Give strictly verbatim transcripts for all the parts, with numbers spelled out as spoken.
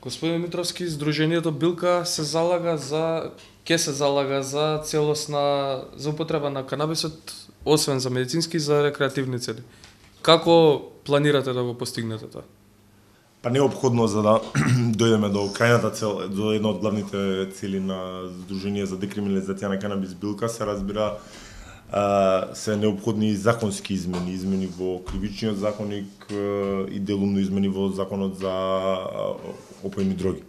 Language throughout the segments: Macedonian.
Господин Митровски, Сдруженијето Билка се залага за ќе се залага за целосна за употреба на канабисот, освен за медицински, за рекреативни цели. Како планирате да го постигнете тоа? Па неопходно за да дојдеме до крајната цел, до една од главните цели на Сдружение за декриминализација на канабис Билка, се разбира се неопходни законски измени, измени во кривичниот законник и делумно измени во законот за опојни дроги.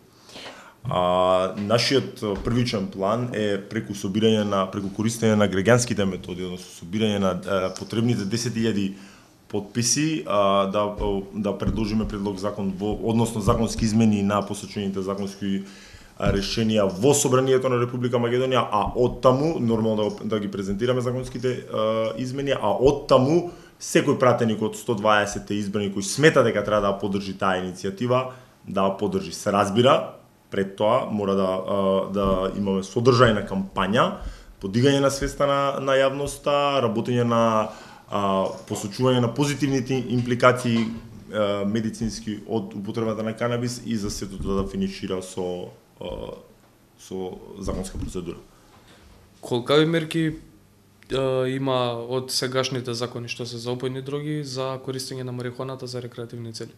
А, нашиот првичен план е преку собирање на преку користење на граѓанските методи, односно собирање на а, потребните десет илјади подписи, а, да да предложиме предлог закон во односно законски измени на посочените законски решенија во Собранието на Република Македонија, а оттаму нормално да, да ги презентираме законските а, измени, а оттаму секој пратеник од сто дваесет избрани кој смета дека треба да поддржи таа иницијатива, да поддржи. Се разбира, пред тоа мора да да имаме содржајна кампања, подигање на свеста на, на јавноста, работење на а, посочување на позитивните импликации а, медицински од употребата на канабис и за сето тоа да финишира со со законска процедура. Колкави мерки е, има од сегашните закони што се за опојни дроги за користење на марихуаната за рекреативни цели?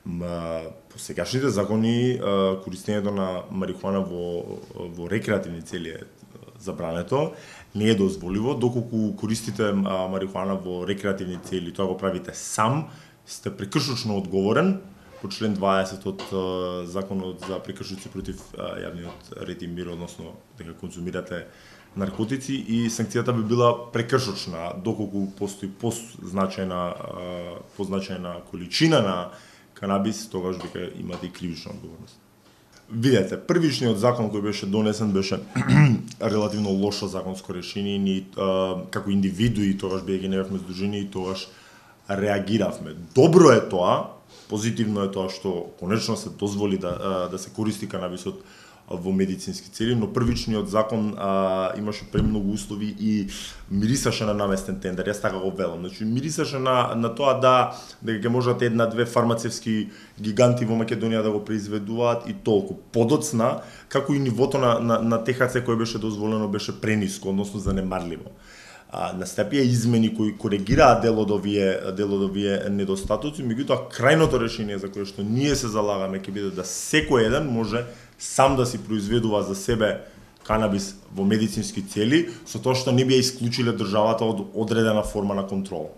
Ма, по сегашните закони е, користењето на марихуана во во рекреативни цели е забрането, не е дозволиво доколку користите марихуана во рекреативни цели, тоа го правите сам, сте прекршочно одговорен по член дваесет од uh, законот за прекршоци против uh, јавниот ред и мир, односно дека конзумирате наркотици, и санкцијата би била прекршочна доколку постои позначајна uh, позначајна количина на канабис, тогаш дека имате и кривична одговорност. Видете, првичниот закон кој беше донесен беше релативно лошо законско решение, ни uh, како индивидуи тогаш бидејќи не бевме здружени и тогаш реагиравме. Добро е тоа, позитивно е тоа што конечно се дозволи да да се користи канабисот во медицински цели, но првичниот закон а, имаше премногу услови и мирисаше на наместен тендер. Јас така го велам. Значи мирисаше на на тоа да дека ќе можат една-две фармацевски гиганти во Македонија да го произведуваат и толку. Подоцна, како и нивото на на, на Т Х Ц кој беше дозволено беше прениско, односно занемарливо. А, настапија измени кои коригираа дел од овие дел од овие недостатоци, меѓутоа крајното решение за кое што ние се залагаме ќе биде да секој еден може сам да си произведува за себе канабис во медицински цели, со тоа што не би ја исклучиле државата од одредена форма на контрол.